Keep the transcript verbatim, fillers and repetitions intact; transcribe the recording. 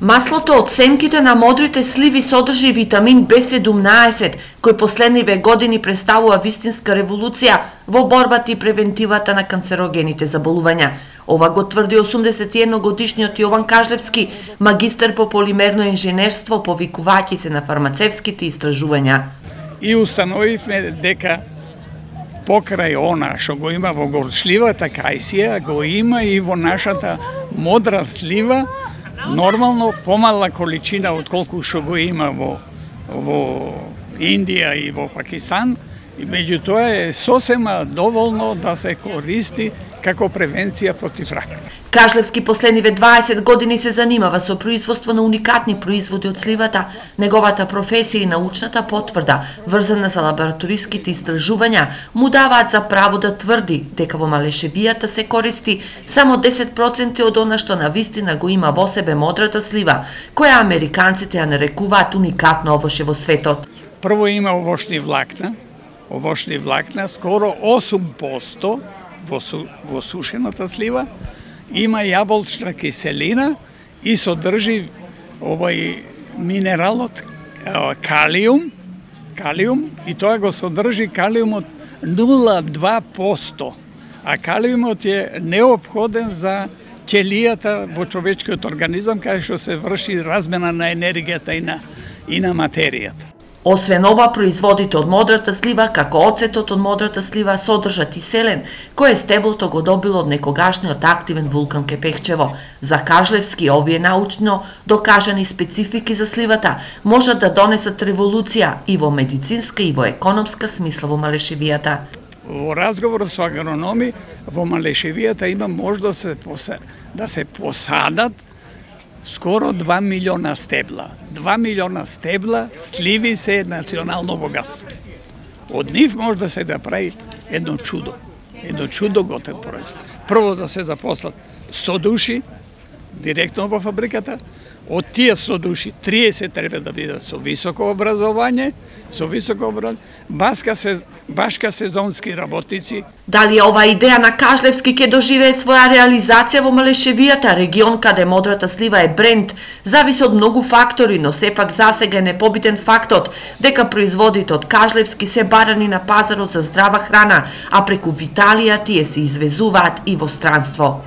Маслото од семките на модрите сливи содржи витамин Б седумнаесет, кој последниве години представува вистинска револуција во борбата и превентивата на канцерогените заболувања. Ова го тврди осумдесет и едно годишниот Јован Кажлевски, магистар по полимерно инженерство, повикувајќи се на фармацевските истражувања. И установивме дека покрај она што го има во горчливата кајсија, го има и во нашата модра слива, нормално помала количина од колку што го има во, во Индија и во Пакистан, и меѓутоа е сосема доволно да се користи како превенција против рак. Кажлевски последниве дваесет години се занимава со производство на уникатни производи од сливата. Неговата професија и научната потврда, врзана за лабораториските истражувања, му даваат за право да тврди дека во Малешевијата се користи само десет проценти од она што навистина го има во себе модрата слива, која американците ја нарекуваат уникатно овоше во светот. Прво има овошни влакна, овошни влакна, скоро осум проценти во, су, во сушената слива, има јаболчна киселина и содржи овој минералот калиум, калиум и тоа го содржи калиумот нула целу два проценти, а калиумот е неопходен за ќелијата во човечкиот организам, каде што се врши размена на енергијата и на, и на материјата. Освен ова, производите од модрата слива, како оцетот од модрата слива, содржат и селен, кој стеблото го добило од некогашниот активен вулкан Кепехчево. За Кажлевски, овие научно докажани специфики за сливата можат да донесат револуција и во медицинска и во економска смисла во Малешевијата. Во разговор со агрономи, во Малешевијата има може да се, да се посадат скоро два милиона стебла. два милиона стебла сливи се национално богатство. Од нив може да се да прави едно чудо. Едно чудо готов производ. Прво да се запослат сто души директно во фабриката. Од тие сто души триесет треба да бидат со високо образование, со високо образование, башка се башка сезонски работници. Дали ова идеја на Кажлевски ќе доживее своја реализација во Малешевијата, регион каде модрата слива е бренд, зависи од многу фактори, но сепак засега е непобитен фактот дека производите од Кажлевски се барани на пазарот за здрава храна, а преку Виталија тие се извезуваат и во странство.